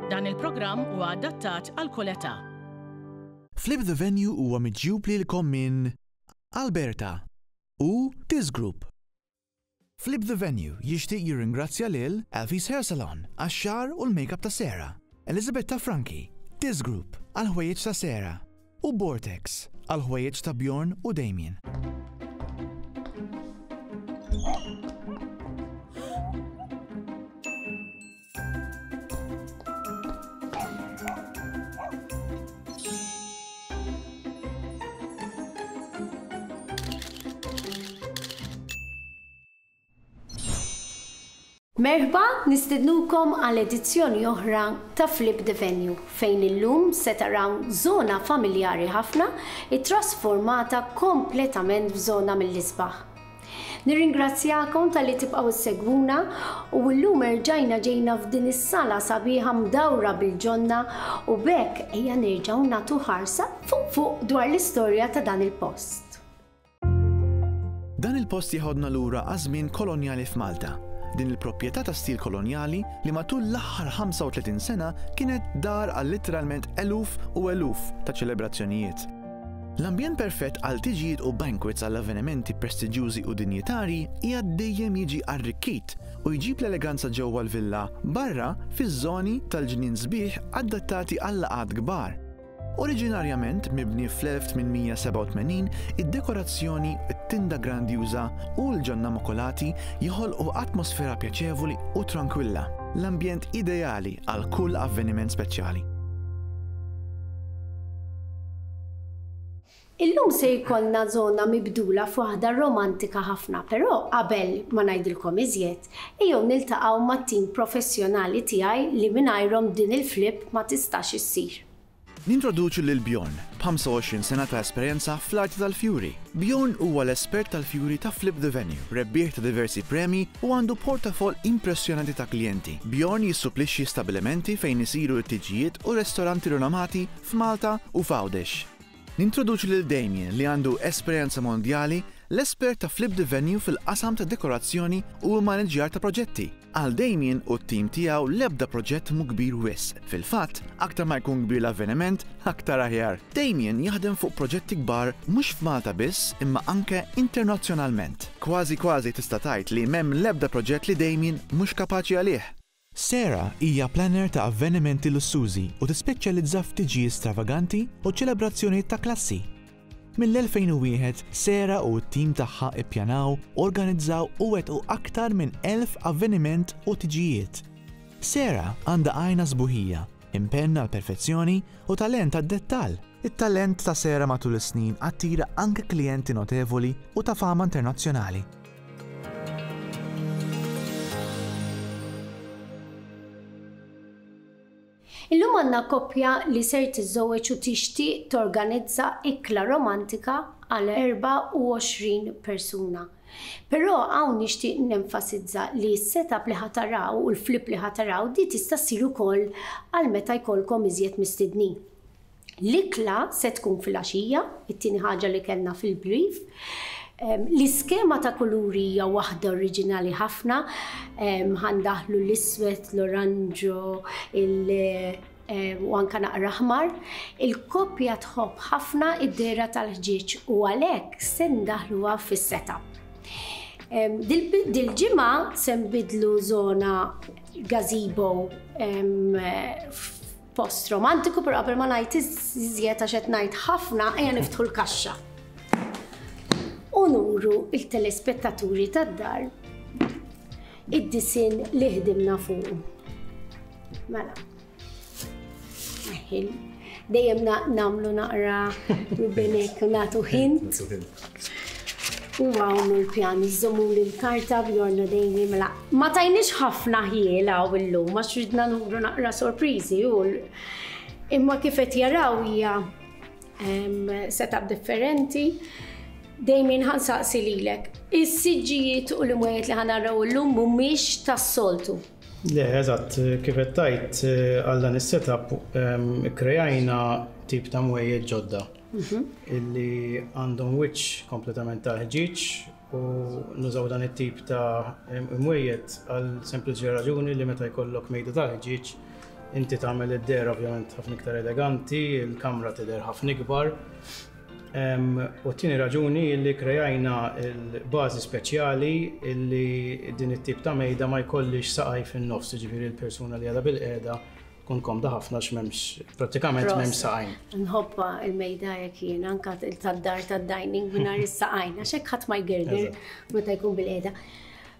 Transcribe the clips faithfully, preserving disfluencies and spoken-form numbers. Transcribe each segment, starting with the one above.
Dan il-programm huwa adattat għal kull età. Flip the Venue huwa miġjub lilkom minn Alberta u Tiz Group. Flip the Venue jixtieq jirringrazzja lil Alfie's Hair Salon għax-xagħar u l-makeup ta' Sarah, Elizabetta Franchi, Tiz Group għal ħwejjeġ ta' Sarah u Vortex għal ħwejjeġ ta' Bjorn u Damien. Merħba, nistednukom għal edizzjoni oħra ta' Flip the Venue, fejn illum se taraw żona familjari ħafna ittrasformata kompletament f'żona mill-isbaħ. Nirringrazzjakom talli tibqgħu ssegwuna u llum erġajna ġejna f'din is-sala sabiħa mdawra bil-ġonna u b'hekk ejja nerġgħu nagħtu ħarsa fuq fuq dwar l-istorja ta' dan il-post. Dan il-post jeħodna lura għaż-żmien kolonjali f'Malta. Din il-proprjetà ta' stil kolonjali li matul l-aħħar ħamsa u tletin sena kienet dar għal literalment eluf u eluf ta' ċelebrazzjonijiet. L-ambjent perfett għal tiġijiet u banquets għal avvenimenti prestiġjużi u dinjitarji hija dejjem jiġi arrikkit u jġib l-eleganza ġewwa l-villa barra fiż-żoni tal-ġnien sbieħ adattati għal laqgħat kbar. Oriġinarjament mibni fl-elf tmien mija sebgħa u tmenin, id-dekorazzjoni, it-tinda grandjuża u l-ġonna makulati joħolqu atmosfera pjaċevoli u tranquilla, l-ambjent ideali għal kull avveniment speċjali. Illum se jkollna żona mibdula f'waħda romantika ħafna, però qabel ma ngħidilkom iżjed, ejjew niltaqgħu mat-tim professjonali tiegħi li mingħajrhom din il-flip ma tistax issir. Nintroduċu lil Bjorn, b'ħamsa u għoxrin sena ta' esperjenza fl-arti tal-fjuri. Bjorn huwa l-espert tal-fjuri ta' Flip the Venue, rebbieħ ta' diversi premi u għandu portafoll impressjonanti ta' klijenti. Bjorn jissuplixxi stabilimenti fejn isiru t-tiġijiet u restoranti rinomati f'Malta u f'Għawdex. Nintroduċu lil Damien li għandu esperjenza mondjali, l-espert ta' Flip the Venue fil-qasam ta' dekorazzjoni u maniġjar ta' proġetti. Għal Damien u t-tim tiegħu l-ebda proġett mhu kbir wisq. Fil-fatt, aktar ma jkun kbir l-avveniment, aktar aħjar. Damien jaħdem fuq proġetti kbar mhux f'Malta biss imma anke internazzjonalment. Kważi kważi tista' tgħid li m'hemm l-ebda proġett li Damien mhux kapaċi għalih. Sarah hija planner ta' avvenimenti lussużi u tispeċjalizza f'tiġijiet stravaganti u ċelebrazzjonijiet ta' klassi. Mill-elfejn u wieħed, Sarah u t-tim tagħha ippjanaw, organizzaw u wettqu aktar minn elf avveniment u tiġijiet. Sarah għandha għajn għas-sbuħija, impenn għal perfezzjoni u talent għad-dettall. It-talent ta' Sarah matul is-snin attira anke klijenti notevoli u ta' fama internazzjonali. Illum għandna koppja li ser tiżżewweġ u tixtieq torganizza ikla romantika għal erbgħa u għoxrin persuna. Però hawn nixtieq nenfasizza li s-setup li ħa taraw u l-flip li ħa taraw di tista' ssir ukoll għal meta jkollkom iżjed mistednin. L-ikla se tkun fil-għaxija, it-tieni ħaġa li kellna fil-brief. L-iskema ta' kuluri hija waħda oriġinali ħafna, ħa ndaħħlu l-iswed, l-oranġo, u anka naqra aħmar. Il-koppja tħobb ħafna id-dehra tal-ħġieġ u għalhekk se ndaħluha fis-setup. Dil-ġimgħa se nbidlu żona gazebo post romantiku, però qabel ma ngħid iżjed għax qed ngħid ħafna, ejja niftħu l-kaxxa. U nuru il-telespettaturi tad-dar id-disinn li ħdimna fuq. Mela. Dejjem nagħmlu naqra rubinek u nagħtu hint. U hawn l-pjan, iżommu l-karta Bjorn u Damien, mela. Ma tajniex ħafna ħjiel hawn illum, għax ridna nuru naqra sorpriżi u imma kif qed jaraw hija setup differenti. Damien, ħa nsaqsi lilek, is-siġġijiet u l-imwejjed li ħa naraw illum mhumiex tas-soltu. Le, eżatt, kif qed tgħid, għal dan is-setup kreajna tip ta' mwejjed ġodda illi għandhom wiċċ kompletament ta' ħġieġ u nużaw dan it-tip ta' imwejjed għal sempliċi raġuni li meta jkollok mejda tal-ħġieġ Inti tagħmel id-dehra ovvjament ħafna iktar eleganti, il-kamra tidher ħafna ikbar. U t-tieni raġuni li krejajna l-bażi speċjali illi din it-tip ta' mejda ma jkollix saqaj fin-nofs, jiġifieri l-persuna li għadha bil-qiegħda tkun komda ħafna x'memx prattikament m'hemmx saqajn. Nħobbha il-mejda jekk jien anke tad-dar tad-dining mingħajr is-saqajn għax hekk ħadd ma jgerger meta jkun bil-qiegħda.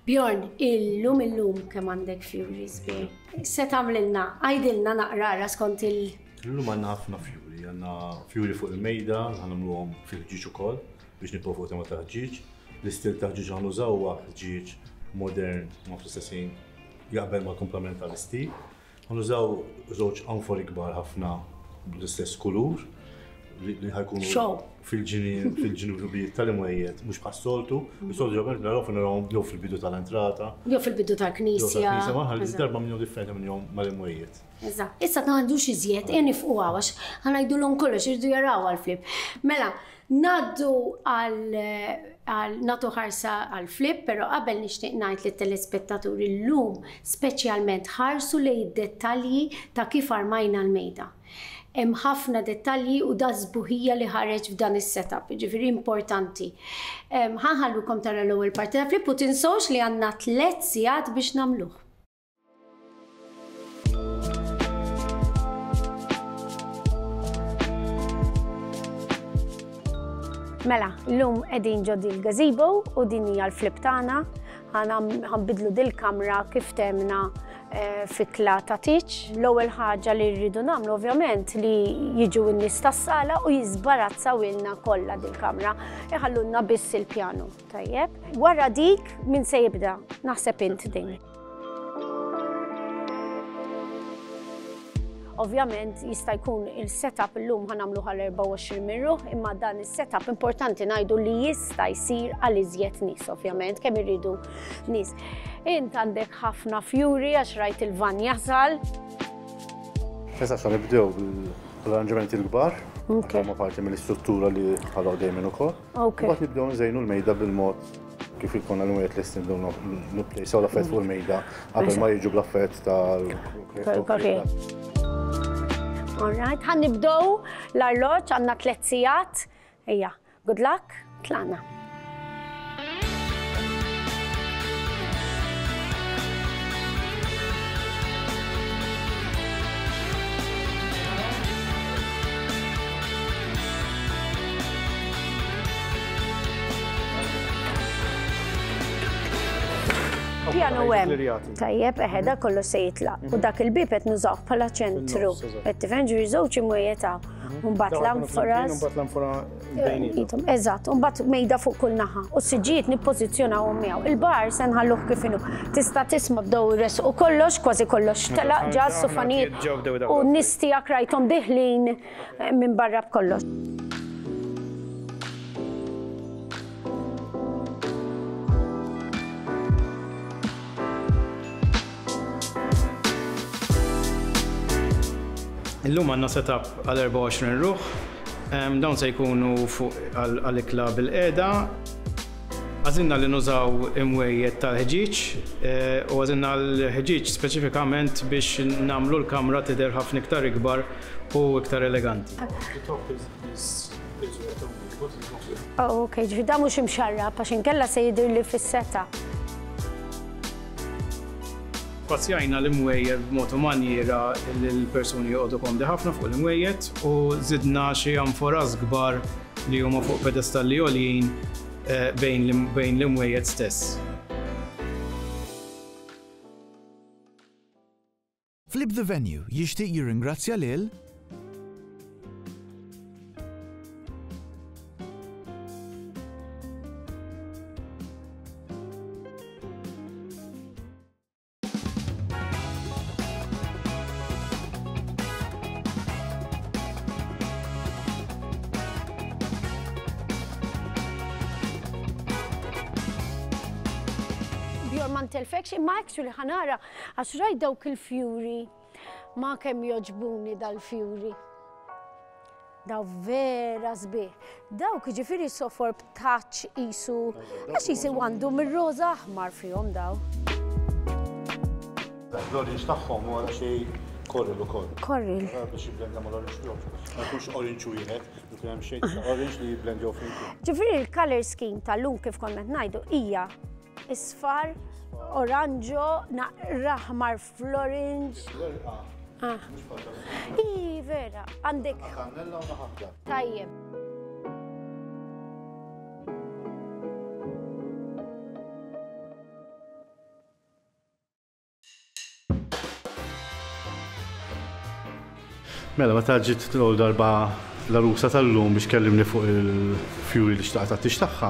Bjorn, illum illum kemm għandek fjuri sbieħ. Se tagħmlilna, għidilna naqra skont il- Illum għandna ħafna fjuri, għandna fjuri fuq il-mejda, ħanamluhom fil-ħġieġ ukoll biex nibqgħu fuq tema ta' ħġieġ. L-istil ta' ħġieġ ħanużaw huwa ħġieġ modern ma fl-istess ħin jaqbel mal-komplement tal-istil. Ħanużaw żewġ anfori kbar ħafna bl-istess kulur li ħajkunu fil-ġinubijiet tal-imwejjed, mhux bħas-soltu, is-soltu ġabel naraw narawhom jew fil-bidu tal-entrata. Jew fil-bidu tal-knisja. Ma ħalli darba minnhom differenti minnhom mal-imwejjed. Eżatt. Issa ma għandux iżjed, e nifqu għax ħanajdulhom kollox irdu jaraw għall-flip. Mela, ngħaddu għal nagħtu ħarsa għall-flip, però qabel nixtieq ngħid lit-telespettaturi llum speċjalment ħarsu lejn id-dettalji ta' kif armajna l-mejda. Hemm ħafna dettalji u da sbuħija li ħareġ f'dan is-setup, jiġifieri importanti. Ħa nħallukom tara l-ewwel parti ta' flip u tinsewx li għandna tliet sigħat biex nagħmluh. Mela, llum qegħdin ġo dil-gazebo u din hija l-flip tagħna. Ħanbidlu dil-kamra kif temna fikla ta' tiċ. L-ewwel ħaġa li rridu nagħmlu ovvjament li jiġu n-nies tas-sala u jiżbarazzaw ilna kollha dil-kamra, iħallulna biss il-pjanu. Tajjeb. Wara dik min se jibda? Naħseb int din. Ovvjament jista' jkun il-setup illum ħanamlu għal erbgħa u għoxrin min ruħ, imma dan is-setup importanti ngħidu li jista' jsir għal iżjed nies, ovvjament kemm irridu nies. Int għandek ħafna fjuri għax rajt il-van jasal. Issa sa nibdew bl-arranġamenti l-kbar, huma parti mill-istruttura li ħalgħu dejjem ukoll. Mbagħad nibdew nżejnu l-mejda bil-mod kif ikonna l-mwiet lesti nibdew nipplejsaw l-affett fuq il-mejda qabel ma jiġu bl-affett tal-. All right, ħan nibdew l-arloġġ, għandna tliet sigħat. Ejja, good luck, tlaqna. Pjanu hemm. Tajjeb, eħe, dak kollu se jitlaq. U dak il-bieb qed nużawh bħala ċentru. Qed tifhem ġifieri żewġ imwejjed hawn. U mbagħad l-anforas. U mbagħad l-anfora bejniethom. Eżatt, u mbagħad mejda fuq kull naħa. U s-siġġijiet nippożizzjonawhom miegħu. Il-bar se nħalluh kif inhu. Tista' tisma' bdew jresqu kollox, kważi kollox telaq ġa s-sufanijiet. U n-nies tiegħek rajthom diħlin minn barra b'kollox. Illum għandna setup għal erbgħa u għoxrin ruħ. Dawn se jkunu fuq għal-ikla bil-qiegħda. Għażilna li nużaw imwejjed tal-ħġieġ u għażilna l-ħġieġ speċifikament biex nagħmlu l-kamra tidher ħafna iktar ikbar u iktar eleganti. Oh, ok, ġifieri da mhux imxarrab għax inkella se jidher li fis-setup. Spazjajna l-imwejjed b'mod u manjiera li l-persuni joqogħdu komdi ħafna fuq l-imwejjed u żidna xi anforas kbar li huma fuq pedestalli għoljin bejn l-imwejjed stess. Flip the Venue jixtieq jirringrazzja lil ma ntelfekx, imma actually ħanara għax rajt dawk il-fjuri, ma kemm joġbuni dal-fjuri. Daw vera sbieħ. Dawk jiġifieri sofor b'touch qisu, għax qisu għandu mir-roża aħmar fihom daw. L-orange tagħhom huwa xi Coral ukoll. Coral. Biex jibblendja mal-orange tiegħu. Ma jkunx orange wieħed, jkun hemm shade ta' orange li jibblendjaw flimkien. Ġifieri il-color scheme tal-lum kif konna ngħidu hija isfar, oranġo, naqra aħmar fl-orange. Ah. I vera, għandek. Kannella u naħabda. Tajjeb. Mela, meta ġiet l-ewwel darba l-għarusa tal-lum biex kellimni fuq il-fjuri li xtaqt għat-tieġ tagħha.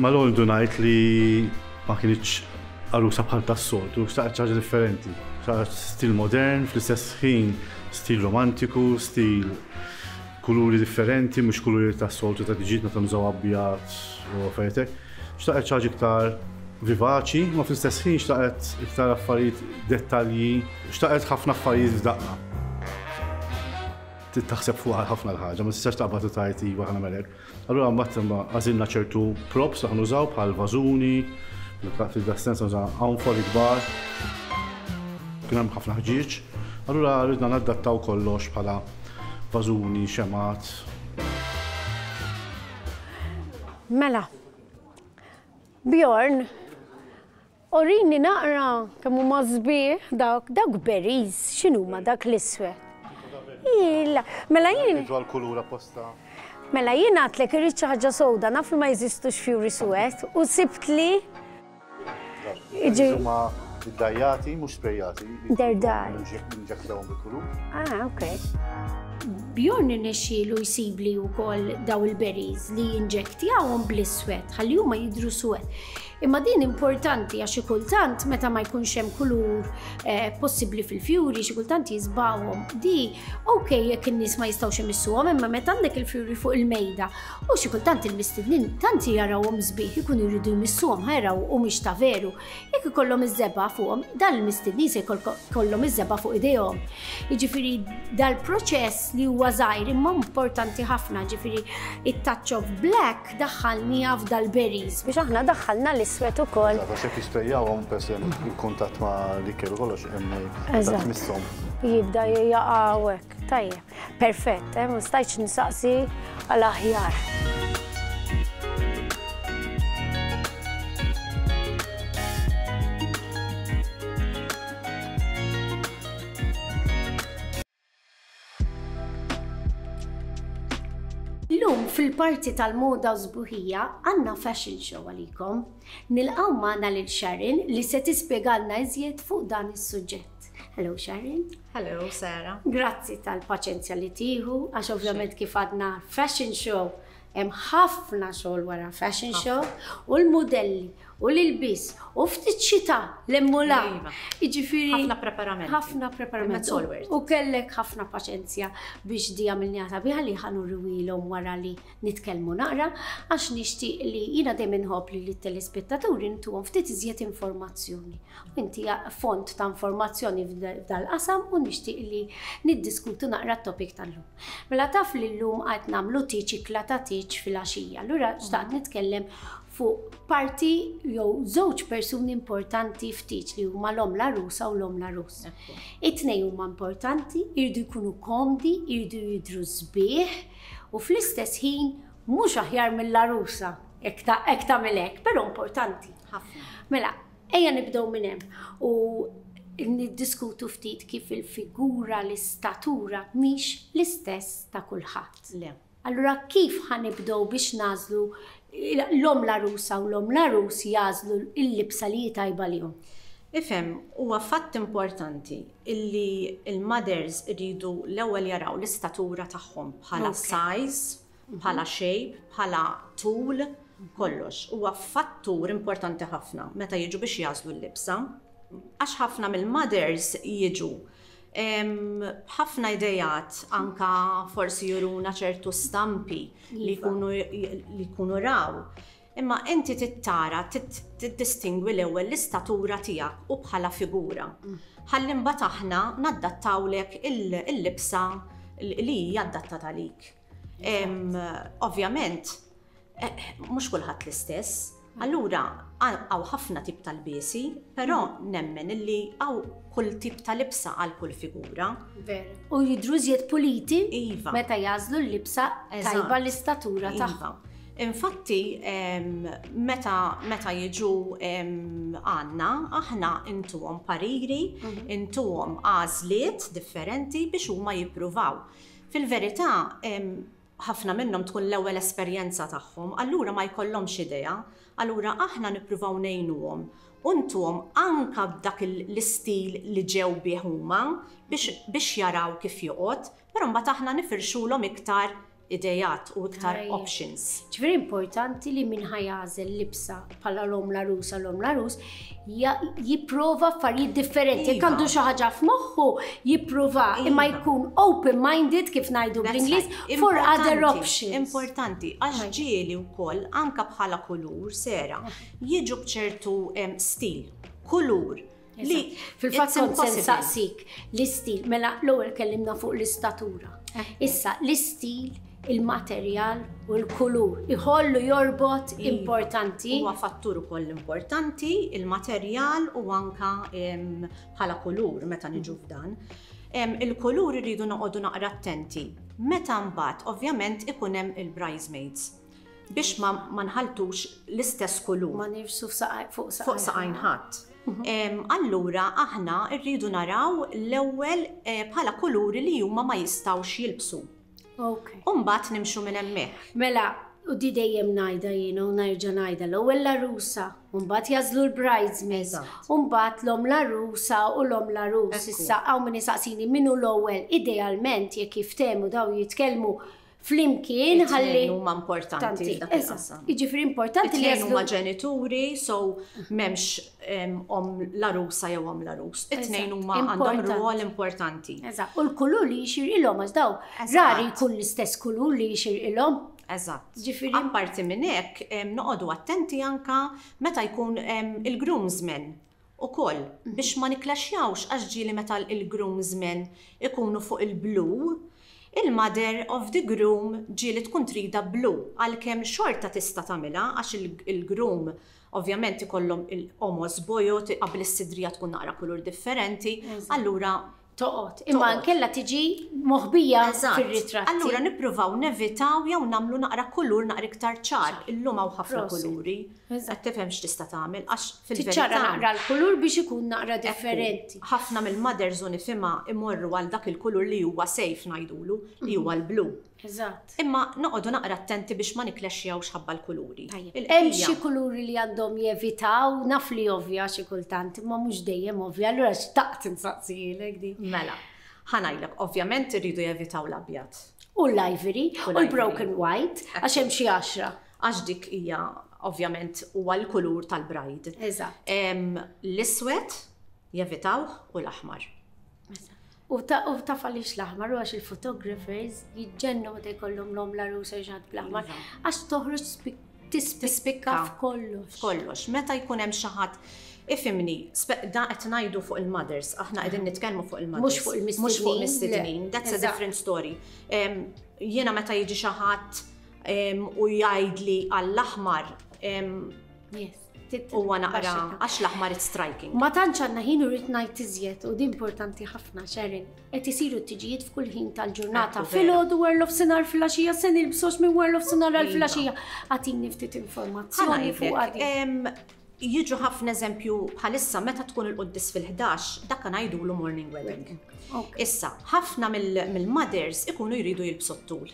Mal-ewwel ndunajt li ma kinitx għarusa bħal tas-soltu, xtaqt xi ħaġa differenti. Xtaqt stil modern, fl-istess ħin stil romantiku, stil kuluri differenti, mhux kuluri tas-soltu ta' tiġiet meta nużaw abjad u affarijiet hekk. Xtaqt xi ħaġa iktar vivaċi, ma fl-istess ħin xtaqt iktar affarijiet dettalji, xtaqt ħafna affarijiet f'daqqa. Taħseb fuq ħafna l-ħaġa, ma tistax taqbad u tgħid iva ħa nagħmel hekk. Allura mbagħad għażilna ċertu props li ħanużaw bħal vażuni, fil-sens nużaw anfori kbar. Kien hemm ħafna ħġieġ, allura ridna nadattaw kollox bħala vażuni, xemat. Mela, Bjorn, orini naqra kemm huma sbieħ dawk, dawk berries, x'inhuma dak l-iswed? Illa, mela jien. Dwar kulur apposta. Mela jien għadtlek irrid xi ħaġa sowda, naf li ma jeżistux fjuri suwed u sibt li. Huma iddajjati, mhux sprejjati. They're dyed. Inġektawhom bil-kulur. Ah, ok. Bjorn irnexxielu jsibli wkoll daw il-berries li jinġektjawhom bl-iswed, ħalli huma jidhru suwed. Imma din importanti għax xi kultant meta ma jkunx hemm kulur eh, possibbli fil-fjuri, xi kultant jiżbawhom. Di ok jekk in-nies ma jistgħux imissuhom, imma meta għandek il-fjuri fuq il-mejda u xi kultant il-mistednin tant jarawhom sbieħ ikunu jridu jmissuhom ħajraw u mhix ta' veru. Jekk ikollhom iż-żebgħa fuqhom, dan il-mistednin se jkollhom iż-żebgħa fuq idejhom. Jiġifieri dal-proċess li huwa żgħir imma importanti ħafna, ġifieri it-touch of black daħħalniha f'dal-berries biex aħna daħħalna l-iswed ukoll. Għax jekk jisprejjawhom peress il-kuntatt ma' l-ikel u kollox hemm tmisshom. Jibda jaqgħu hekk. Tajjeb. Perfett, eh, ma stajtx nsaqsi għal aħjar. Illum fil-parti tal-moda u sbuħija għandna fashion show għalikom. Nilqgħu magħna lil Sharon li se tispjegalna iżjed fuq dan is-suġġett. Hello Sharon. Hello Sarah. Grazzi tal-paċenzja li tieħu, għax ovvjament kif għadna fashion show hemm ħafna xogħol wara fashion show u l-mudelli u l-ilbis u ftit xita l-emmula. Jiġifieri ħafna preparamenti. Ħafna preparamenti. U kellek ħafna paċenzja biex di għamilniha sabiħa li ħa nuriwilhom wara li nitkellmu naqra għax nixtieq li jiena dejjem inħobb li lit-telespettaturi ntuhom ftit iżjed informazzjoni. U inti font ta' informazzjoni f'dal-qasam u nixtieq li niddiskutu naqra t-topic tal-lum. Mela taf li llum qed nagħmlu tieġ ikla ta' tieġ fil-għaxija. Allura xtaqt nitkellem fuq parti jew żewġ persuni importanti ftit li huma l-omm l-għarusa u l-omm l-għarus. It-tnejn huma importanti, jridu jkunu komdi, jridu jidhru sbieħ u fl-istess ħin mhux aħjar mill-għarusa hekk tagħmel hekk, però importanti. Mela, ejja nibdew minn hemm u niddiskutu ftit kif il-figura, l-istatura mhix l-istess ta' kulħadd. Le. Allura kif ħanibdew biex nażlu l-omm l-għarusa u l-omm l-għarus jażlu l-libsa li hi tajba lihom? Ifhem, huwa fatt importanti illi il-mothers iridu l-ewwel jaraw l-istatura tagħhom bħala size, bħala shape, bħala tul, kollox. Huwa fattur importanti ħafna meta jiġu biex jażlu l-libsa. Għax ħafna mill-mothers jiġu b'ħafna idejat, anka forsi juruna ċertu stampi li jkunu raw. Imma inti tittara, tiddistingwi l-ewwel l-istatura tiegħek u bħala figura. Ħalli mbagħad aħna naddattawlek il-libsa li hija adattata għalik. Ovvjament, mhux kulħadd l-istess. Allura, Hawn ħafna tip tal-lbiesi, però nemmen illi hawn kull tip ta' libsa għal kull figura. Vera. U jidhru iżjed puliti Iva. meta jagħżlu l-libsa Eżatt. tajba l-istatura Iva. tagħhom. Infatti, em, meta, meta jiġu em, għandna, aħna intuhom pariri, intuhom għażliet differenti biex huma jippruvaw. Fil-verità, em, ħafna minnhom tkun l-ewwel esperjenza tagħhom, allura ma jkollhomx idea, allura aħna nippruvaw ngħinuhom u ntuhom anka b'dak il- l-istil li ġew bih huma biex, biex jaraw kif joqgħod, però mbagħad aħna nifirxulhom iktar idejat u iktar Tajjeb. options. Ġifieri importanti li min ħa jagħżel libsa bħala l-omm l-għarusa l-omm l-għarus ja- jipprova affarijiet differenti. Jekk Iva. għandu xi ħaġa f'moħħu jipprova imma Iva. jkun open-minded kif ngħidu That's bl-Ingliż right. for other Importanti, options. Importanti, għax ġieli wkoll anka bħala kulur sera jiġu bċertu em, stil, kulur li Fil-fatt it's kont se impossible. nsaqsik l-istil, mela l-ewwel kellimna fuq l-istatura. Issa l-istil, il-materjal u l-kulur iħollu jorbot Iva. importanti. Huwa fattur ukoll importanti, il-materjal u anka em, bħala kulur meta niġu f'dan. Em, Il-kulur irridu noqogħdu naqra attenti. Meta mbagħad ovvjament ikun hemm il-bridesmaids biex ma, ma nħaltux l-istess kulur. Ma nirsu f'saqaj- fuq fuq saqajn ħadd. Em, Allura aħna rridu naraw l-ewwel eh, bħala kuluri li huma ma jistgħux jilbsu. Ok. U mbagħad nimxu minn hemmhekk. Mela, u di dejjem ngħidha jiena u nerġa' ngħidha l-ewwel l-għarusa, u mbagħad jagħżlu l-bridesmaids, Eżatt. u mbagħad l-omm l-għarusa u l-omm l-għarus. Ekku. Issa hawn min isaqsini min hu l-ewwel, idealment jekk jiftehmu daw jitkellmu flimkien ħalli. It-tnejn huma importanti f'dak Eżatt. il-qasam. Jiġifieri importanti li It-tnejn jagħżlu huma ġenituri, so m'hemmx em, omm l-għarusa jew omm l-għarus. It-tnejn Eżatt. huma għandhom Importanti. rwol importanti. Eżatt. U l-kulur li jixirqilhom għax daw Eżatt. rari jkun l-istess kulur li jixirqilhom. Eżatt. Ġifieri- Apparti minn hekk, em, noqogħdu attenti anka meta jkun em, il-groomsmen ukoll biex ma niklaxjawx għax ġieli meta il-groomsmen ikunu fuq il-blu, il-mother of the groom ġieli tkun trida blu għalkemm xorta tista' tagħmilha għax il- il-groom ovvjament ikollhom il-qomos bojod qabel is-sidrija tkun naqra kulur differenti, allura Toqgħod. Imma Toqgħod. nkella tiġi moħbija Eżatt. fir-ritratti. Allura nippruvaw nevitaw jew nagħmlu naqra kulur naqra iktar ċar. Illum hawn ħafna Prosit. kuluri. Eżatt. Qed tifhem x'tista' tagħmel għax Tiċċara fil-verità naqra l-kulur biex ikun naqra differenti. ħafna mill-mothers u nifhimha imorru għal dak il-kulur li huwa safe ngħidulu, li huwa l-blu. Eżatt. Imma noqogħdu naqra attenti biex ma niklexxjawx ħabba l-kuluri. Tajjeb. Il-bqija- Hemm xi kuluri li għandhom jevitaw, naf li ovvja xi kultant, imma mhux dejjem ovvja, allura xtaqt insaqsilek di. Mela, ħa ngħidlek, ovvjament irridu jevitaw l-abjad. U l-ivory, U u l-broken white, għax hemm xi għaxra. Għax dik hija ovvjament huwa l-kulur tal-bride. Eżatt. Em, L-iswed jevitawh u l-aħmar. U ta' u taf għaliex l-aħmar u għax il-photographers jiġġennu meta jkollhom l-omm l-għarusa ġat bl-aħmar għax toħroġ spik- tispikka Tispikka f'kollox. F'kollox. Meta jkun hemm xi ħadd ifhimni, spe- da qed ngħidu fuq il-mothers, aħna qegħdin nitkellmu fuq il-mothers. Mhux fuq il-mistednin, Mhux fuq le. mistednin. That's a Eżatt. different story. Em, Jiena meta jiġi xi ħadd em, u jgħidli għall-aħmar em, Yes. huwa naqra għax l-aħmar it's striking. Ma tantx għandna ħin u rrid ngħid iżjed u di importanti ħafna Sharon. Qed isiru t-tiġijiet f'kull ħin tal-ġurnata. Ekku, vera. Filgħodu wara nofsinhar filgħaxija se nilbsux minn wara nofsinhar għal Iva. filgħaxija. Agħtini ftit informazzjoni fuq Ħa ngħidlek, għadi. em, Jiġu ħafna eżempju bħalissa meta tkun il-quddis fil-ħdax, dak ngħidulu morning wedding. Ok. Issa, ħafna mill- mill-mothers ikunu jridu jilbsu t-tul.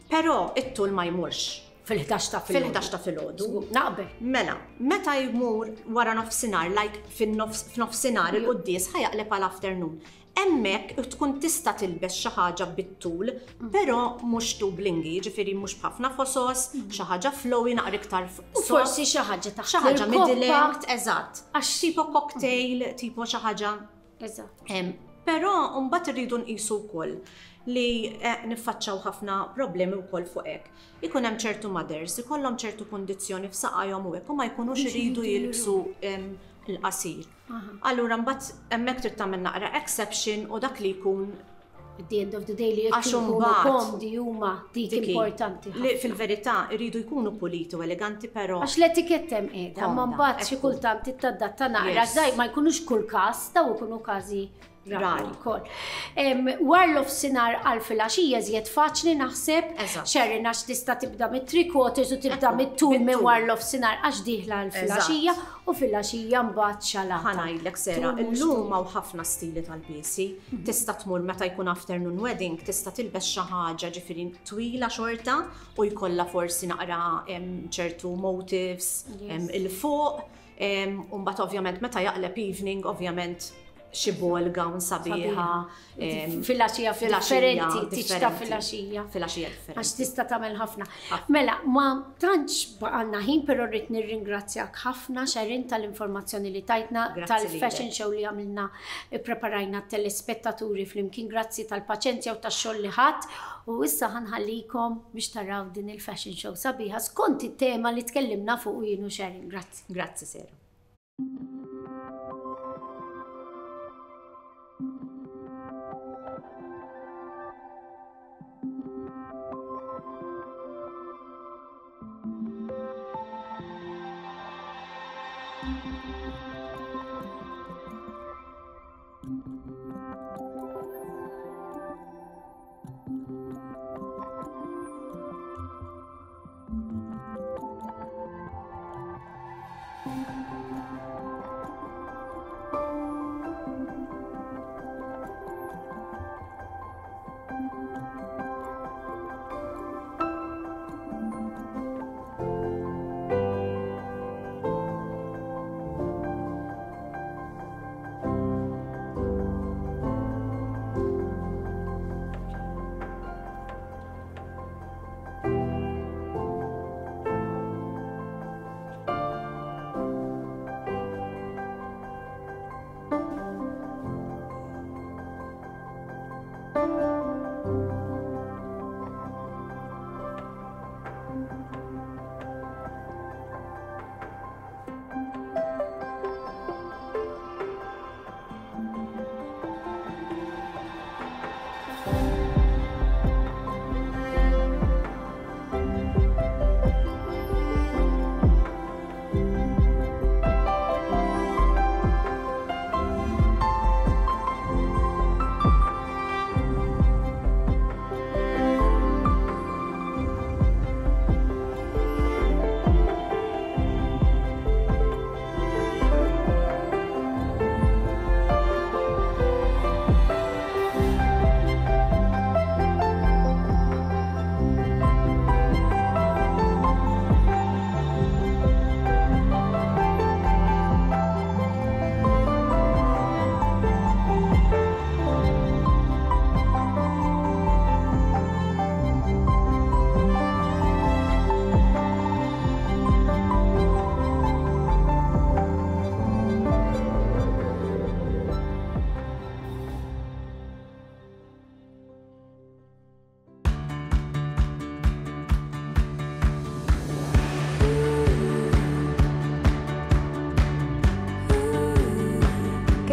Però it-tul ma jmurx Fil-ħdax ta' filgħodu. fil-ħdax ta' filgħodu. Naqbel. Mela, meta jmur wara nofsinhar, like fin-nofs- f'nofsinhar il-quddis ħa jaqleb għal afternoon. Hemmhekk tkun tista' tilbes xi ħaġa bit-tul, però mhux too blingy, ġifieri mhux b'ħafna fosos, xi ħaġa flowy naqra iktar U forsi xi ħaġa taħt xi ħaġa il-koppa. middle length, eżatt. Għax- tipo cocktail, tipo xi ħaġa Eżatt. Em, Però mbagħad irridu nqisu wkoll li eh, niffaċċaw ħafna problemi wkoll fuq hekk. Ikun hemm ċertu mothers, ikollhom ċertu kundizzjoni f'saqajhom u hekk u ma jkunux iridu jilbsu em, il-qasir. Allura mbagħad hemmhekk trid tagħmel naqra exception u dak li jkun At the end of the day li jekk ikunu komdi huma dik importanti. Li fil-verità jridu jkunu puliti u eleganti però. Għax l-etiketta hemm qiegħda, ma mbagħad xi kultant tittadatta naqra żgħir ma jkunux kull każ, daw ikunu każi rari wkoll. War l-offsinar għal filgħaxija żjed faċli naħseb, Sharon għax tista' tibda mit-three quarters u tibda mit-tul minn war l-offsinar għax dieħla għal filgħaxija u filgħaxija mbagħad xalata. Ħa ngħidlek Sera, illum hawn ħafna stili tal-biesi. Tista' tmur meta jkun afternoon wedding, tista' tilbes xi ħaġa ġifieri twila xorta u jkollha forsi naqra ċertu motifs il fuq. U mbagħad ovvjament meta jaqleb evening, ovvjament xi ball gown sabiħa. Filgħaxija differenti, tiċta filgħaxija. Filgħaxija differenti. Għax tista' tagħmel ħafna. Mela, ma tantx baqalna ħin, però rrid nirringrazzjak ħafna Sharon tal-informazzjoni li tajtna, tal-fashion show li għamilna, ippreparajna t-telespettaturi flimkien, grazzi tal-paċenzja u tax-xogħol li ħadd. U issa ħanħallikom biex taraw din il-fashion show sabiħa skont it-tema li tkellimna fuq jien u Sharon. Grazzi. Grazzi Sera.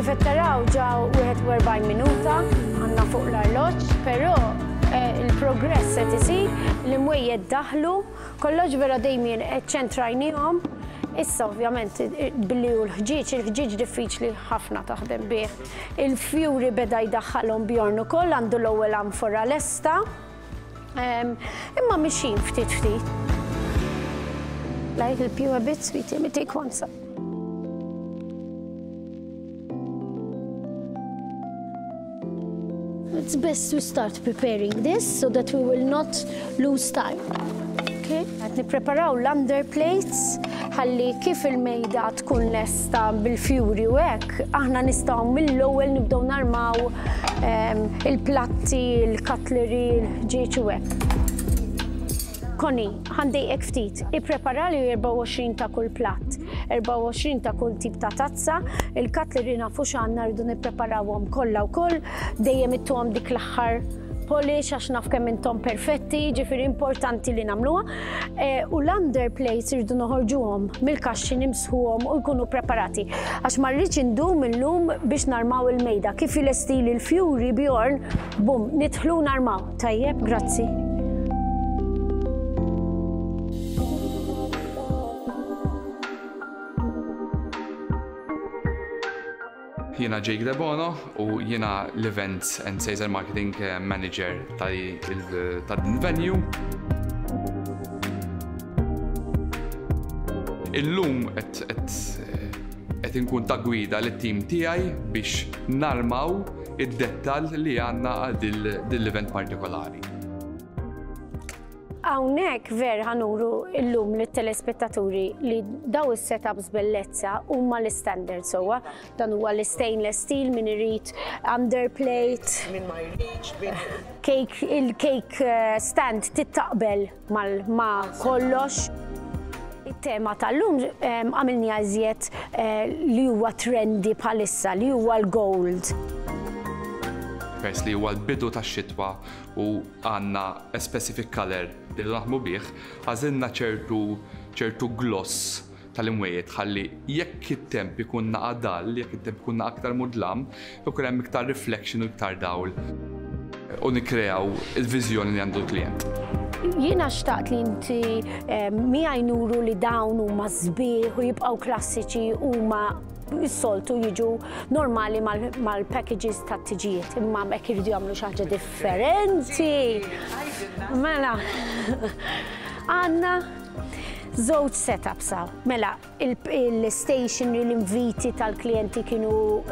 Kif qed taraw ġew wieħed u erbgħin minuta għandna fuq l-arloġġ, però il-progress qed isir, l-imwejjed daħlu, kollox vera dejjem ċentrajnihom. Issa ovvjament billi hu l-ħġieġ, il-ħġieġ diffiċli ħafna taħdem bih. Il-fjuri beda jdaħħalhom Bjorn ukoll, għandu l-ewwel anfora lesta. Imma mixin ftit ftit. I help you a bit, sweetie, let me take one side. It's best to start preparing this so that we will not lose time. Okay? Qed nippreparaw l-underplates ħalli kif il-mejda tkun lesta bil-fjuri u hekk, aħna nistgħu mill-ewwel nibdew narmaw il-platti, il-cutlery, il-ħġieġ u hekk. Connie, ħandejqek ftit, ipprepara li erbgħa u għoxrin ta' kull platt, erbgħa u għoxrin ta' kull tip ta' tazza, il-cutlery nafu x'għandna rridu nippreparawhom kollha wkoll, dejjem ittuhom dik l-aħħar Il-polish għax naf kemm intom perfetti, ġifieri importanti li nagħmluha. U l-underplates irridu noħorġuhom mill-kaxxi, nimsħuhom u jkunu preparati. Għax ma rridx indum illum biex narmaw il-mejda. Kif ilestili l-fjuri Bjorn, bum, nidħlu narmaw. Tajjeb, grazzi. Jiena Jake Debono u jiena l-Events and Sales and Marketing Manager ta' din venue. Illum qed inkun ta' gwida lit-tim tiegħi biex narmaw id-dettall li għandna għal din l-event partikolari. Hawnhekk ver ħa nuru llum lit-telespettaturi li daw is-setups bellezza huma l-standard sewwa. Dan huwa l-stainless steel min irid underplate. Min ma jridx, cake, il-cake stand tittaqbel ma' kollox. Il-tema tal-lum għamilni iżjed li huwa trendy bħalissa, li huwa l-gold. Pers li huwa l-bidu tax-xitwa u għandna a specific color li naħdmu bih, għażilna ċertu ċertu gloss tal-imwejjed ħalli jekk it-temp ikun naqa dal, jekk it-temp ikun aktar mudlam, ikun hemm iktar reflection u iktar dawl u nikkreaw il-viżjoni li għandu l-klient. Jiena xtaqt li inti miegħi nuru li dawn huma sbieħ u jibqgħu klassiċi huma s-soltu jiġu normali mal-packages ta' tiġijiet, imma hekk iridu jagħmlu xi ħaġa differenti. Mela, għandna żewġ setups hawn. Mela, il-stationery, l-inviti tal-klijenti kienu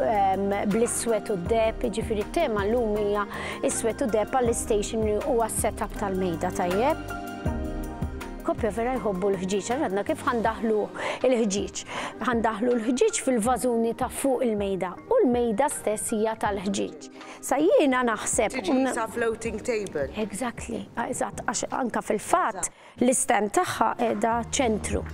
bl-iswed u d-deheb, jiġifieri t-tema llum hija iswed u deheb għall-stationery u għas-setup tal-mejda, tajjeb. Koppja vera jħobbu l-ħġieġ, għadna kif ħandaħlu l-ħġieġ. Ħandaħlu l-ħġieġ fil-vażuni ta' fuq il-mejda u l-mejda stess hija tal-ħġieġ. Sa jiena naħseb. Tiġi sa floating table. Exactly, eżatt, għax anka fil-fatt l-istand tagħha qiegħda ċentru.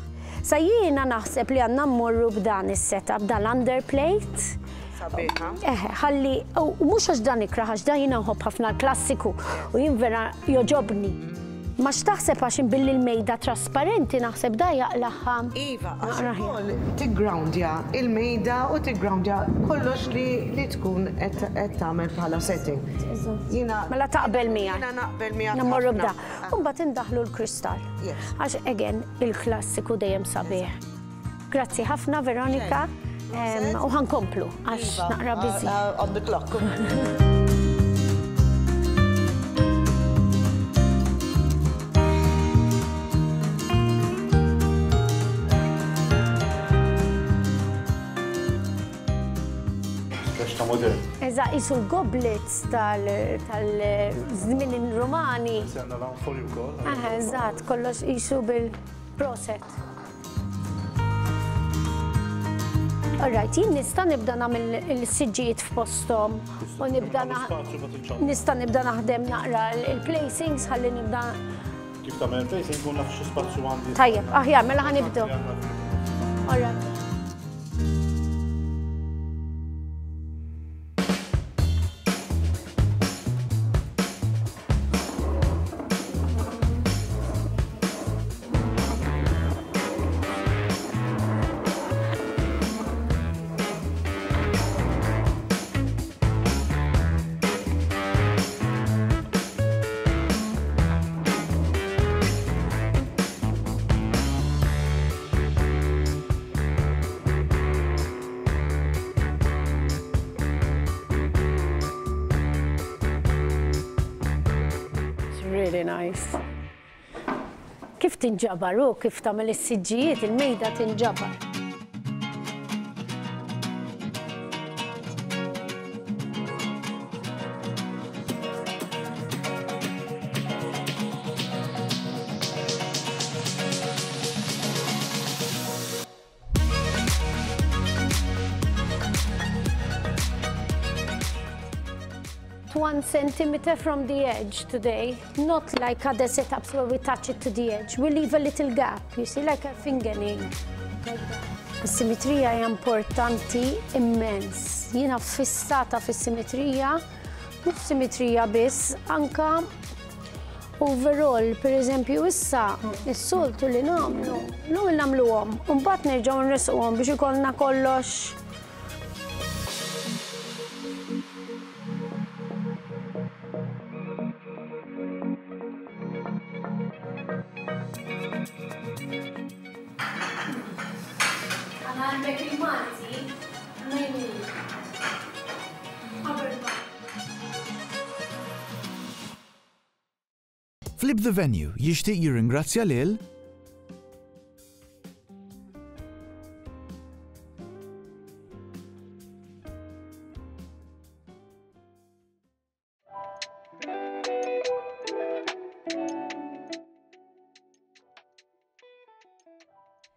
Sa jiena naħseb li għandna mmorru b'dan is-setup, dan l-underplate. Sabiħa. Eħe, ħalli, u mhux għax dan ikraħ, għax dan jiena nħobb ħafna l-klassiku u jien vera joġobni. Ma x'taħseb għax billi l-mejda trasparenti naħseb da jaqlaħħa. Iva, għax ukoll tiggroundja il-mejda u tiggroundja kollox li tkun qed tagħmel bħala setting. Jiena Mela taqbel miegħek. Jiena naqbel miegħek. Nmorru b'da. U mbagħad indaħlu l-kristall. Għax again il-klassiku dejjem sabiħ. Grazzi ħafna Veronika u ħankomplu għax naqra busy. On the clock. Eżatt, jisu l-goblets tal-żmien Romani. Għandna l-anfori wkoll. Eżatt, kollox jisu bil-proset. All right, jien nista' nibda nagħmel il-siġġijiet f'posthom u nibda nista' nibda naħdem naqra il-placings ħalli nibda. Kif tagħmel il-placing kun naf xi spazju għandi. Tajjeb, aħjar, mela ħa nibdew. All right. Really nice. Kif tinġabar u kif tagħmel is-siġġijiet, il-mejda tinġabar. One centimeter from the edge today, not like other setups where we touch it to the edge. We leave a little gap, you see, like a fingernail. Like that. Is-simetrija hija importanti immens. Jiena fissata fis-simetrija Mhux simetrija biss, anka overall, per eżempju, issa, is-soltu li nagħmlu, l-ewwel nagħmluhom, u mbagħad nerġgħu nresquhom biex ikollna kollox. Għandek il-Malti, Flip the Venue jixtieq jirringrazzja lil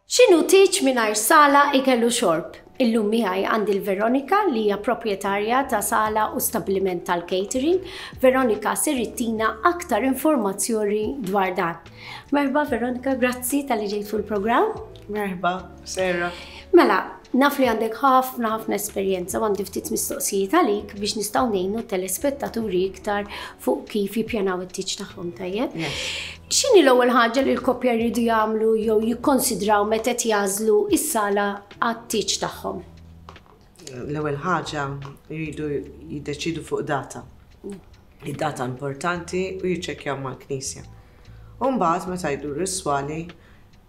X'inhu tieġ mingħajr sala ikellu xorb? Illum miegħi għandi l-Veronika li hija proprjetarja ta' sala u stabbiliment tal-catering. Veronika ser ittina aktar informazzjoni dwar dan. Merħba Veronika, grazzi talli ġejt fuq il-programm. Merħba, Sarah. Mela, naf li għandek ħafna ħafna esperjenza u għandi ftit mistoqsijiet għalik biex nistgħu ngħinu telespettaturi iktar fuq kif jippjanaw it-tieġ tagħhom, tajjeb? X'inhi l-ewwel ħaġa li l-koppja jridu jagħmlu jew jikkonsidraw meta qed jagħżlu s-sala għat-tieġ tagħhom? L-ewwel ħaġa jridu jiddeċidu fuq data. Id-data importanti u jiċċekkjaw mal-knisja. U mbagħad meta jduru s-swali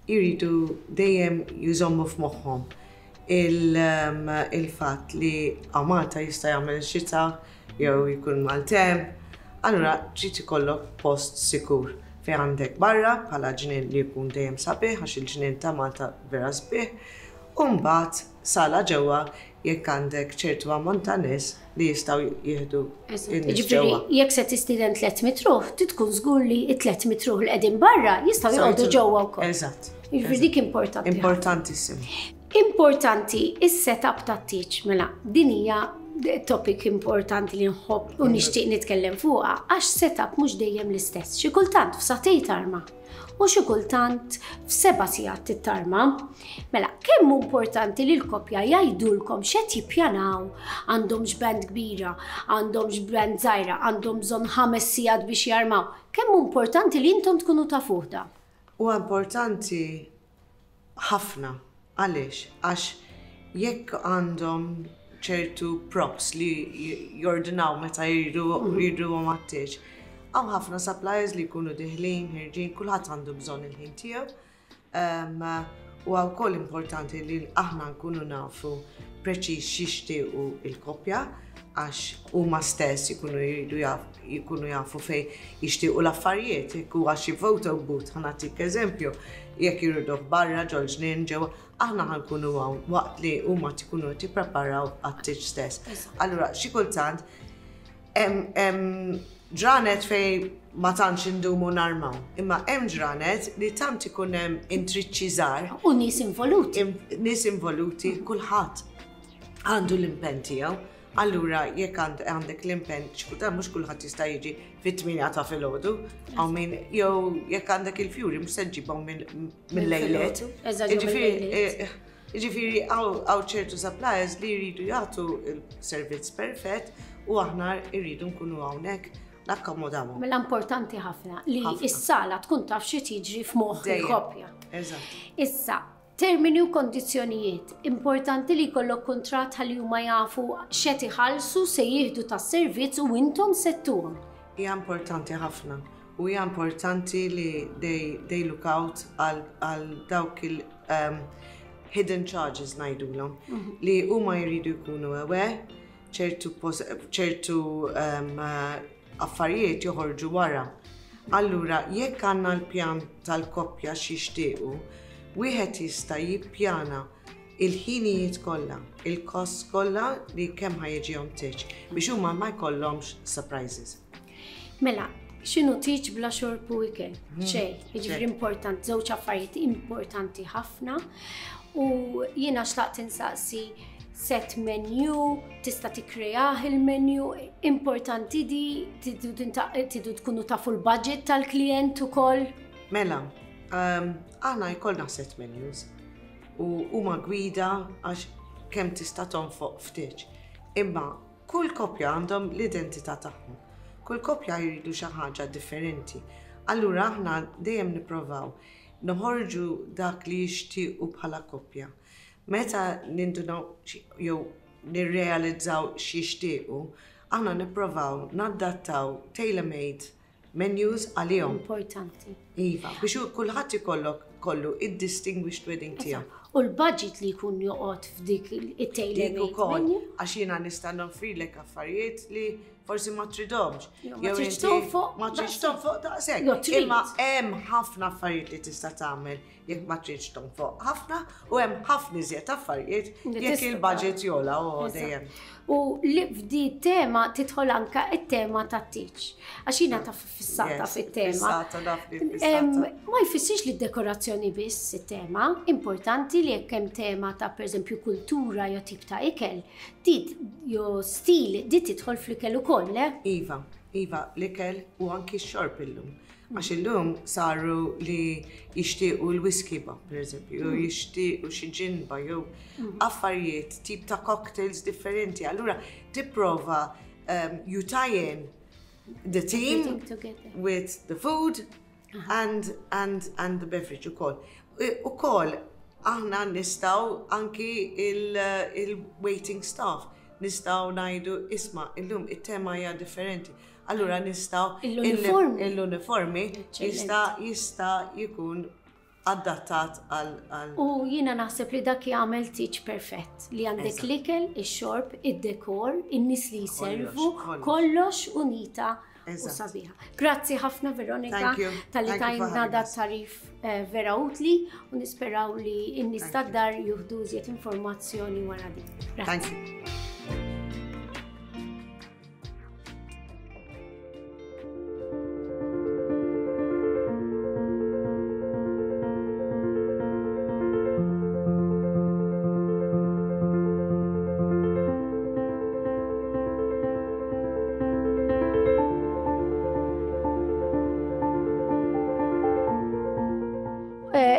jridu dejjem jżommu f'moħħhom il-fatt li Malta jista' jagħmel xita jew jkun maltemp, allura trid ikollok post sikur fejn għandek barra bħala ġnien li jkun dejjem sabiħ għax il-ġnien ta' Malta vera sbieħ, u mbagħad sala ġewwa jekk għandek ċertu ammont ta' nies li jistgħu jieħdu in-nies ġewwa. Jekk se tistieden tliet mitt ruħ, trid tkun żgur li t-tliet mitt ruħ li qegħdin barra jistgħu joqogħdu ġewwa wkoll. Eżatt. Jiġifieri dik importanti. Importantissimo. Importanti is-setup tat-tieġ, mela din hija topic importanti li nħobb u nixtieq nitkellem fuqha għax setup mhux dejjem l-istess. Xi kultant f'sagħtejn tarma u xi kultant f'seba' sigħat tittarma. Mela, kemm hu importanti li l-koppja jgħidulkom x'qed jippjanaw, għandhomx band kbira, għandhomx band żgħira, għandhom bżonn ħames sigħat biex jarmaw. Kemm hu importanti li intom tkunu tafuh da? Huwa importanti ħafna. Għaliex? Għax jekk għandhom ċertu props li jordinaw meta jridu għat-tieġ, hawn ħafna suppliers li jkunu diħlin, ħirġin, kulħadd għandu bżonn il-ħin tiegħu. U wkoll importanti li aħna nkunu nafu preċiż x'jixtiequ il-koppja għax huma stess jkunu jridu jkunu jafu fejn jixtiequ l-affarijiet, jekk huwa xi photo booth, ħa nagħtik eżempju, jekk jriduh barra ġol-ġnien ġewwa, aħna ħankunu hawn waqt li huma tkunu qed jippreparaw għat-tieġ stess. Allura xi kultant hemm ġranet fejn ma tantx indumu narmaw, imma hemm ġranet li tant ikun hemm intriċċi żgħar. U nies involuti. Nies involuti, kulħadd għandu l-impenn tiegħu. Allura jekk għandek l-impenn, xi kultant mhux kulħadd jista' jiġi fit-tmienja ta' filgħodu, hawn min jew jekk għandek il-fjuri mhux se ġġibhom mill-lejliet. Jiġifieri hawn ċertu suppliers li jridu jagħtu il-servizz perfett u aħna rridu nkunu hawnhekk nakkomodawhom. Mela importanti ħafna li s-sala tkun taf xi tiġri f'moħħ il-koppja. Eżatt. Issa, termini u kondizzjonijiet. Importanti li jkollok kuntratt ħalli huma jafu x'qed iħallsu se jieħdu tas-servizz u intom se ttuhom. Hija importanti ħafna u hija importanti li they, they look out għal dawk il um, hidden charges ngħidulhom li huma jridu jkunu aware ċertu ċertu um, affarijiet joħorġu wara. Allura jekk għandna l-pjan tal-koppja x'jixtiequ, wieħed jista' jippjana il-ħinijiet kollha, il-kost kollha li kemm ħa jiġihom tieġ biex huma ma jkollhomx surprises. Mela, x'inhu tieġ bla xorb u ikel? Xejn, jiġifieri important, żewġ affarijiet importanti ħafna. U jiena xtaqt insaqsi set menu, tista' tikkreah il-menu, importanti di, tidu tkunu tafu l-budget tal-klient ukoll. Mela, aħna jkollna set menus u huma gwida għax kemm tista' tonfoq ftit. Imma Kull koppja għandhom l-identità tagħhom. Kull koppja jridu xi ħaġa differenti. Allura aħna dejjem nipprovaw noħorġu dak li jixtiequ bħala koppja. Meta nindunaw jew nirrealizzaw x'jixtiequ, aħna nipprovaw nadattaw tailor-made menus għalihom. Importanti. Iva, biex kulħadd ikollok kollu id-distinguished wedding tiegħu. U l-budget li jkun joqgħod f'dik it-tailor-made menu? Għax jiena nista' nofrilek affarijiet li forsi ma tridhomx. Ma tridx tonfoq. Ma tridx tonfoq daqshekk. Imma hemm ħafna affarijiet li tista' tagħmel jekk ma tridx tonfoq ħafna u hemm ħafna iżjed affarijiet jekk il-budget jola u dejjem. U li f'di tema tidħol anka it-tema tat-tieġ. Għax jiena taf fissata fit-tema. Ma jfissirx li d-dekorazzjoni biss it-tema, importanti li jekk hemm tema ta' pereżempju kultura jew tip ta' ikel, dit jew stil, dit tidħol fl-ikel ukoll, le? Iva, iva, l-ikel u anki x-xorb illum. Għax illum saru li jixtiequ l-whisky ba, per eżempju, jew jixtiequ xi ġinba, jew affarijiet, tip ta' cocktails differenti. Allura tipprova you tie in the team with the food and, and, and the beverage ukoll. Ukoll aħna nistgħu anki il-waiting staff, nistgħu ngħidu isma' illum it-tema hija differenti. Allura nistgħu l-uniformi jista' jista' jkun adattat għal. U jiena naħseb li dak jagħmel tieġ perfett li għandek l-ikel, ix-xorb, id-dekor, in-nies li jservu, kollox unita u sabiħa. Grazzi ħafna Veronika tal-li tajna dat tarif vera utli u nisperaw li n-nies tad-dar juhdu iżjed informazzjoni wara din. Thank you.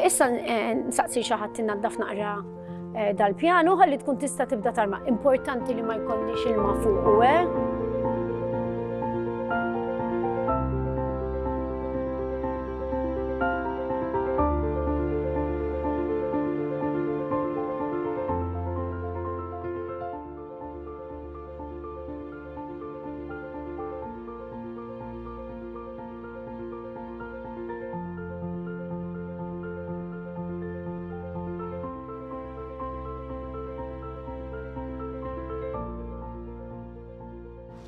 Issa nsaqsi xi ħadd innaddaf naqra dal-pjanu ħalli tkun tista' tibda tarma. Importanti li ma jkollniex ilma fuqu, eh?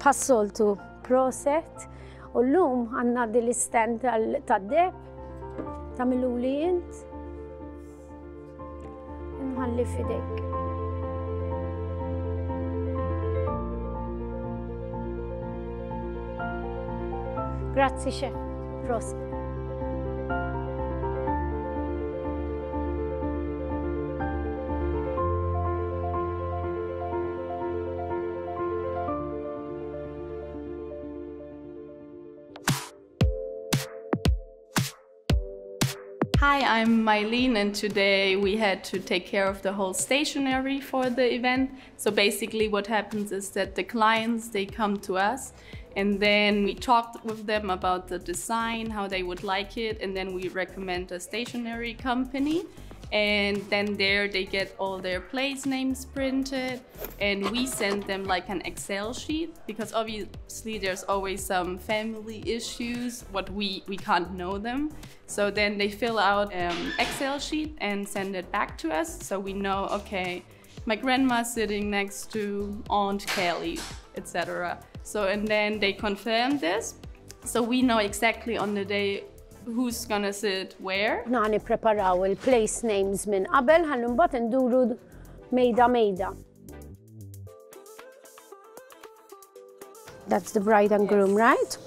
Passoltu proset u l-lum għanna dil-stand tad-deb ta' mill-uli int nħalli fidejk. Grazzi chef, proset. Hi, I'm Mylene, and today we had to take care of the whole stationery for the event. So basically what happens is that the clients, they come to us and then we talked with them about the design, how they would like it, and then we recommend a stationery company. And then there they get all their place names printed, and we send them like an Excel sheet, because obviously there's always some family issues, what we, we can't know them. So then they fill out an Excel sheet and send it back to us, so we know, okay, my grandma's sitting next to Aunt Kelly, et cetera. So, and then they confirm this, so we know exactly on the day who's gonna sit where. Aħna nippreparaw il-place names minn qabel, ħalli mbagħad induru mejda mejda. That's the bride and groom, right?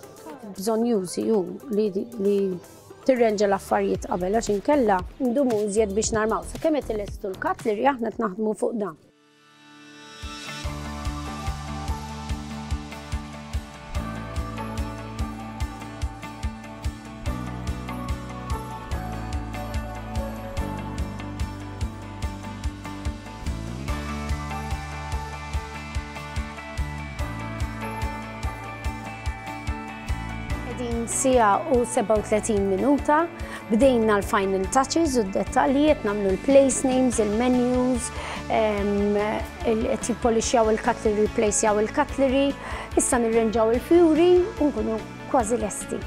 Bżonn jużi ju li, li tirrenġa l-affarijiet qabel għax inkella ndumu iżjed biex narmaw. Sakemm qed ilestu l-cutlery aħna qed naħdmu fuq dan. Qegħdin siegħa u sebgħa u tletin minuta, bdejna l-final touches u d-dettalji, qed nagħmlu l-place names, il-menus, qed jippolixjaw il-cutlery, replacejaw il-cutlery, issa nirrenġaw il-fjuri u nkunu kważi lesti.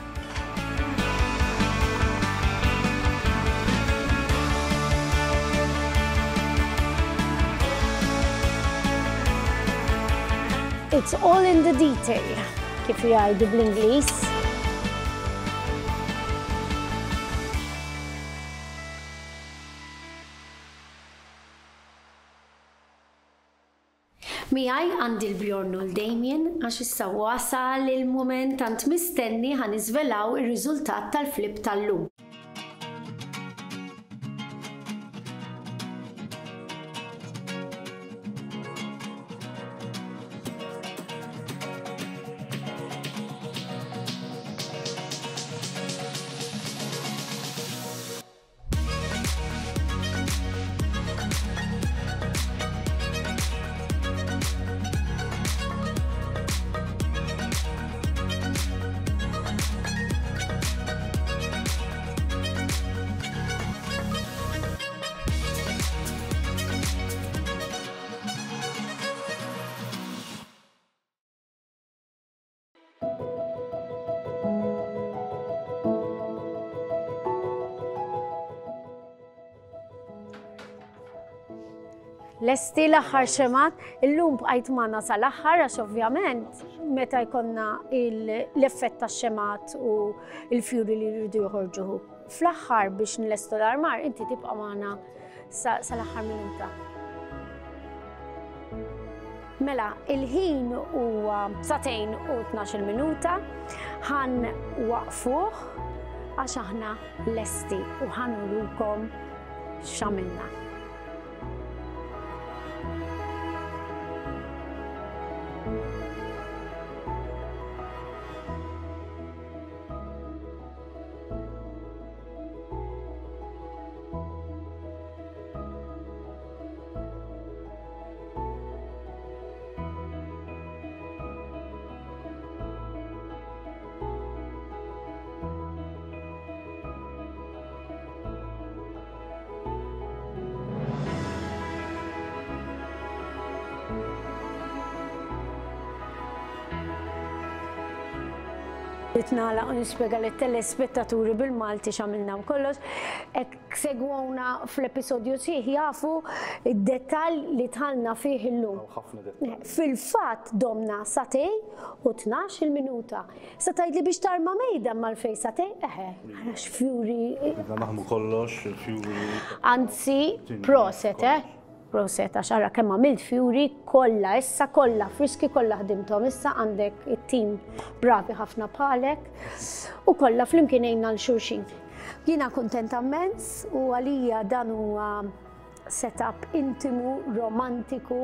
It's all in the detail, kif jgħidu bl-Ingliż. Miegħi għandi l-Bjorn u l-Damien, għax issa wasal il-moment tant mistenni, ħa niżvelaw ir-riżultat tal-flip tal-lum. Lesti l-aħħar xemgħat, illum bqajt magħna sal-aħħar għax ovvjament meta jkollna l-effett tax-xemgħat u l-fjuri li jridu joħorġu. Fl-aħħar biex nlestu l-armar, inti tibqa' magħna sal-aħħar minuta. Mela, il-ħin huwa sagħtejn u tnax-il minuta, ħa nwaqqfuh għax aħna lesti u ħa nurukom x'għamilna. Nagħlaq u nispjega lit-telespettaturi bil-Malti x'għamilna u kollox. Jekk segwewna fl-episodju sħiħ jafu id-dettall li dħalna fih illum. Fil-fatt domna sagħtejn u tnax-il minuta. Sa tgħidli biex tarma mejda mal-fej sagħtejn, eħe, għax fjuri. Naħmu kollox, il-fjuri. Anzi, proset, eh? Proset, għax ara kemm għamilt fjuri kollha, issa kollha, friski kollha ħdimthom, issa għandek it-tim bravi ħafna bħalek u kollha flimkien għinna lil xulxin. Jiena kuntenta immens u għalija dan huwa setup intimu, romantiku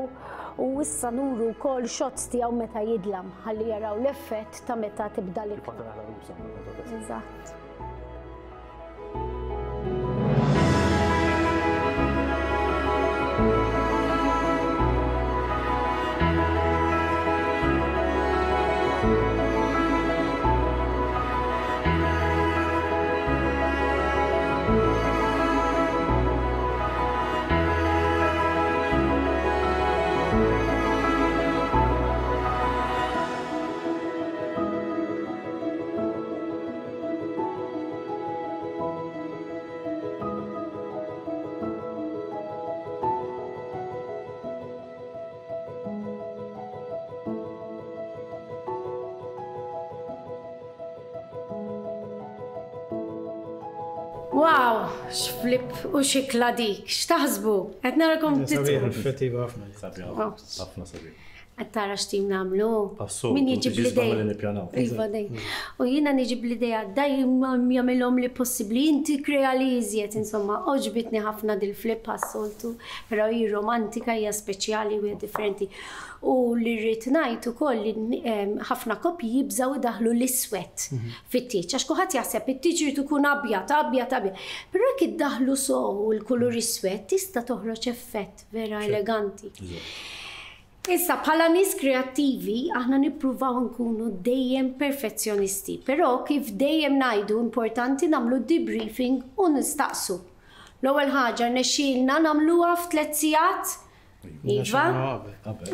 u issa nuru wkoll shots tiegħu meta jidlam ħalli jaraw l-effett ta' meta tibda l-ikla. Eżatt. Wow, x'flip u x'ikla dik, x'taħsbu? Qed narakom Sabiħ, effettiva ħafna. Sabiħ, ħafna sabiħ. Qed tara x'tim nagħmlu. Assolut, Min jiġib tiġi l-idea? li nippjanaw. Iva dej. U jiena niġib l-idea, daj jagħmilhom li possibbli, inti krea li iżjed, insomma, għoġbitni ħafna dil-flip għas-soltu, però hi romantika, hija speċjali u hija differenti. U li rrid ngħid ukoll li em, ħafna koppji jibżaw idaħlu l-iswed fit-tieġ, għax kulħadd jaħseb it-tieġ irid ikun abjad, abjad, abjad. Però jekk iddaħlu sow il-kulur iswed tista' toħroġ effett vera eleganti. Issa, bħala nies kreattivi, aħna nippruvaw nkunu dejjem perfezzjonisti, però kif dejjem ngħidu, importanti nagħmlu debriefing u nistaqsu. L-ewwel ħaġa, rnexxielna nagħmluha f'tliet sigħat? Iva?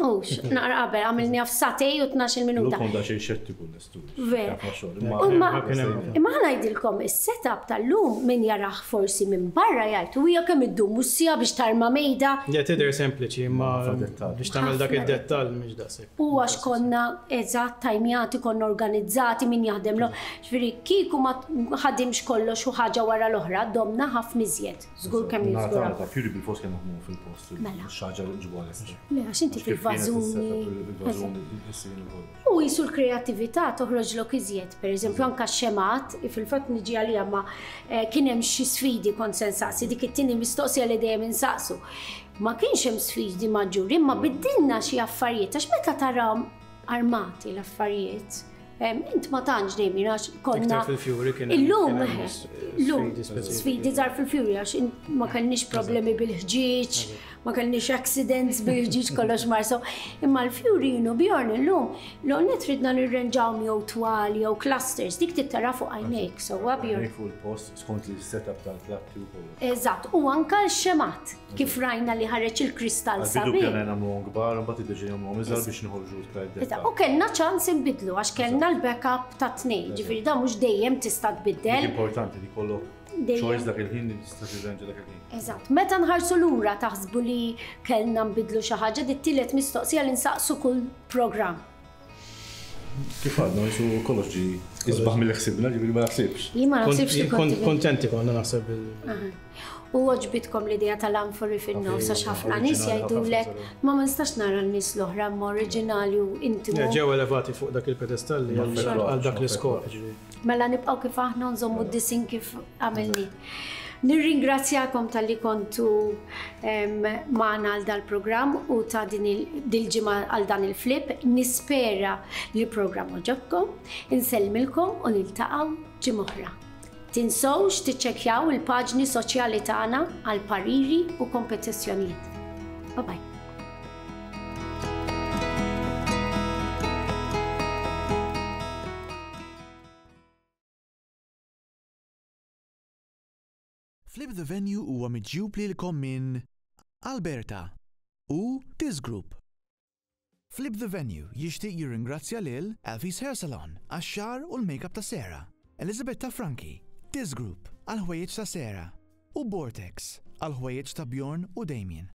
Ux, naqra qabel, għamilniha f'sagħtejn u tnax-il minuta. Kont xejn xettiku nestu. Ver. Imma imma ħa ngħidilkom, is-setup tal-lum min jarah forsi minn barra jgħid, u hija kemm iddum siegħa biex tarma mejda. Ja, tidher sempliċi, imma biex tagħmel dak id-dettall mhix daqshekk. U għax konna eżatt tajmjati, konna organizzati min jaħdem lo. Ġifieri kieku ma ħadimx kollox u ħaġa wara l-oħra, domna ħafna iżjed. Żgur kemm jiżgura. Ta' fjuri bil-post kemm naħdmu fil-post. Mela. Xaġa li nġibu għal Le, għax inti fil-vażuni. Il-vażuni, U jisu l-kreatività toħroġlok iżjed, per eżempju anka x-xemat, fil-fatt niġi għalija ma eh, kien hemm xi sfidi kont se nsaqsi, dik it-tieni mistoqsija li dejjem insaqsu. Ma kienx hemm sfidi maġġuri, imma biddilna xi affarijiet, għax meta tarahom armati l-affarijiet, em, int ma tantx dejjem għax konna. Iktar fil-fjuri kien hemm- Illum, kien hemm eh, s- illum, sfidi speċifiċi. sfidi żgħar fil-fjuri għax int ma kellniex problemi bil-ħġieġ, ma kellniex accidents bil-ħġieġ, kollox marso. Imma l-fjuri jinu Bjorn illum, l-għonet ridna nirrenġawhom jew twal jew clusters, dik tittara fuq għajnejk, sewwa Bjorn. Fuq il-post skont il-setup tal-platti u kollox. Eżatt, u anka l-xemat, kif rajna li ħareġ il-kristall Għal-bidu sabiħ. pjana nagħmluhom kbar, mbagħad iddeċidejna nagħmluhom iżgħar biex noħorġu iktar Eżatt, id-dettall. u kellna ċans inbidlu għax kellna l-backup ta' tnejn, ġifieri da mhux dejjem tista' Dik tbiddel. importanti li kollok Dejjem. choice dak il-ħin li tista' tirranġa dak il-ħin. Eżatt, meta nħarsu lura taħsbu li kellna nbidlu xi ħaġa, dit tielet mistoqsija li nsaqsu kull programm. Kif għadna, jisu kollox ġi isbaħ mill ħsibna, ġifieri ma naħsibx. Jien ma naħsibx li kont Kontenti konna naħseb il- U għoġbitkom l-idea tal-anfori fin-nofs għax ħafna nies Oriġinali, jgħidulek ħafna ma ma nistax nara n-nies l-oħra imma oriġinali u intimu. Ja, ġew elevati fuq dak il-pedestalli Ma għal fetwax, għal dak ma l-iskop. fetwax. ġifieri. Mela nibqgħu kif aħna nżommu d-disin kif għamilni. Nirringrazzjakom talli kontu em, magħna għal dal-programm u ta' din il- dil-ġimgħa għal dan il-flip. Nispera li l-programm għoġobkom, insellmilkom u niltaqgħu ġimgħa oħra. Tinsewx tiċċekkjaw il-paġni soċjali tagħna għal pariri u kompetizzjonijiet. Bye bye. Flip the Venue huwa miġjub lilkom minn Alberta u Tiz Group. Flip the Venue jixtieq jirringrazzja lil Alfie's Hair Salon għax-xagħar u l-makeup ta' Sarah, Elizabetta Franchi, Tiz Group għal ħwejjeġ ta' Sarah u Vortex għal ħwejjeġ ta' Bjorn u Damien.